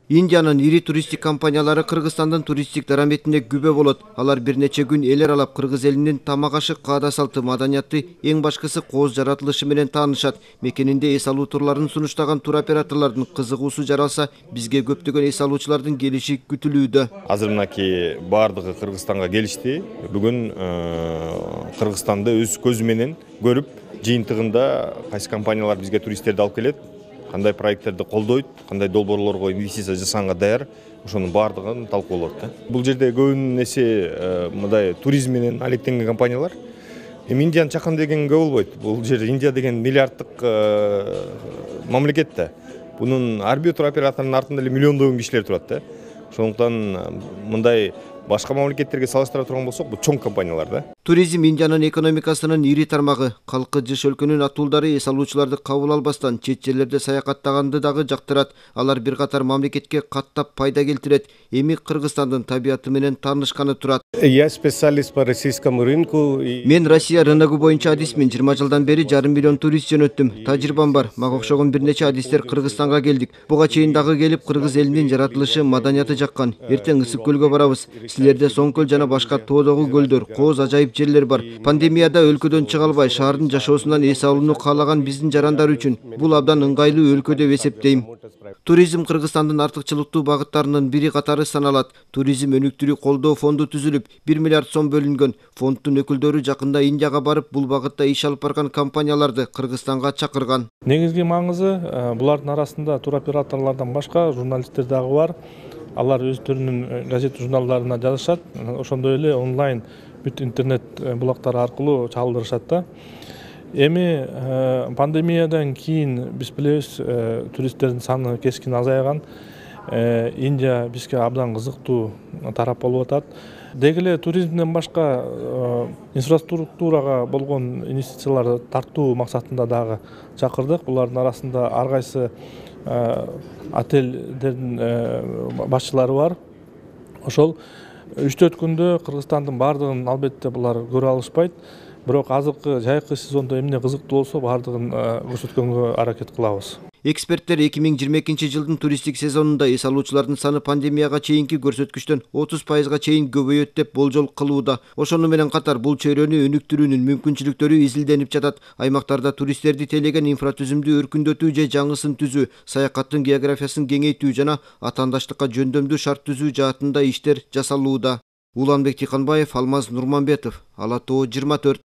Индиянын ири туристтик компаниялары Кыргызстандын туристтик дараметине күбө болот. Алар бир нече күн эл аралап кыргыз элинин тамак-ашы, каада салты, маданияты, эң башкысы кооз жаратылышы менен таанышат. Мекенинде эс алуу турларын сунуштаган туроператорлордун кызыгуусу жаралса, бизге көптөгөн эс алуучулардын келиши күтүлүүдө. Азыр мынакей бардыгы Кыргызстанга келишти. Бүгүн Кыргызстанды өз көзү менен көрүп, жыйынтыгында кайсы компаниялар бизге туристтерди алып келет, кандай проекттерди колдойт, кандай долбоорлорго инвестиция жасаганга даяр, ошонун бардыгын талкуулап да. Бул жерде көбүн эсе мындай туризм менен алектенген компаниялар. Индияны чакын деген көп болбойт. Бул жер Индия деген миллиарддык мамлекет да. Бунун ар бир туроператордун артында эле миллиондогон кишилер турат да. Ошондуктан мындай башка мамлекеттерге салыштыра турган болсок, бул чоң компаниялар да. Туризм Индиянын экономикасынын ири тармагы. Калкы жыш өлкөнүн атуулдары эс алуучуларды кабыл албастан чет жерлерде саякаттаганды дагы жактырат. Алар бир катар мамлекетке каттап пайда келтирет. Эми Кыргызстандын табияты менен таанышканы турат. Я специалист по российскому рынку. Мен Россия рыногу боюнча адисмин. 20 жылдан бери 1,5 миллион турист жөнөттүм. Тажрыйбам бар. Мага окшогон бир нече адистер Кыргызстанга келдик. Буга чейин дагы келип кыргыз элинин жаратылышы, маданияты жаккан. Эртең Ысык көлгө барабыз. Силерде Соң көл жана башка тоодогу көлдөр, кооз ажайып жерлер бар. Пандемияда өлкөдөн чыга албай, шаардын жашоосунан эс алууну каалаган биздин жарандар үчүн бул абдан ыңгайлуу өлкө деп эсептейм. Туризм Кыргызстандын артыкчылыктуу багыттарынын бири катары саналат. Туризм өнүктүрүү колдоо фонду түзүлүп, 1 миллиард сом бөлүнгөн. Фонддун өкүлдөрү жакында Индияга барып, бул багытта иш алып барган компанияларды Кыргызстанга чакырган. Негизги маңызы булардын арасында туроператорлордон башка журналисттер дагы бар. Алар өздөрүнүн газет журналдарына жазышат, ошондой эле онлайн бүт интернет булактары аркылуу чалдырышат да. Эми пандемиядан кийин биз билебиз, туристтердин саны кескин азайган. Индия бизге абдан кызыктуу тарап болуп атат. Деги эле туризмден башка инфраструктурага болгон инвестицияларды тартуу максатында дагы чакырдык. Булардын арасында ар кайсы отельдердин башчылары бар. Ошол 3-4 күндө Кыргызстандын бардыгын албетте булар көрө алышпайт. Бирок азыркы жайкы сезондо эмне кызыктуу болсо, бардыгын көрсөткөнгө аракет кылабыз. Эксперттер 2022 жылдын туристтик сезонунда эс алуучулардын саны пандемияга чейинки көрсөткүчтөн 30% чейин көбөйөт деп болжол кылууда. Ошону менен катар бул чөйрөнү өнүктүрүүнүн мүмкүнчүлүктөрү изилденип жатат. Аймактарда туристтерди тейлеген инфратүзүмдү өркүндөтүү же жаңысын түзүү, саякаттын географиясын кеңейтүү жана атаандаштыкка жөндөмдүү шарт түзүү жаатында иштер жасалууда. Уланбек Тиканбаев, Алмаз Нурманбетов, Ала Тоо 24.